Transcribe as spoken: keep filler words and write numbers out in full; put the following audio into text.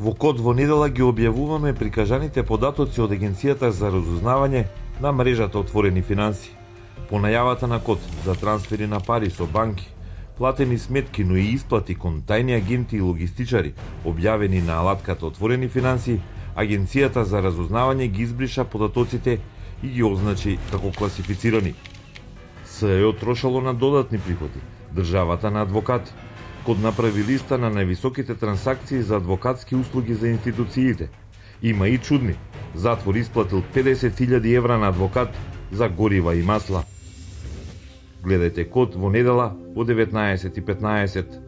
Во Код во недела ги објавуваме прикажаните податоци од Агенцијата за разузнавање на мрежата Отворени финансии. По најавата на Код за трансфери на пари со банки, платени сметки, но и исплати кон тајни агенти и логистичари, објавени на алатката Отворени финансии, Агенцијата за разузнавање ги избриша податоците и ги означи како класифицирани. Се е отрошало на додатни приходи, државата на адвокати. Код направи листа на највисоките трансакции за адвокатски услуги за институциите. Има и чудни. Затвор исплатил педесет илјади евра на адвокат за горива и масла. Гледајте Код во недела во деветнаесет и петнаесет.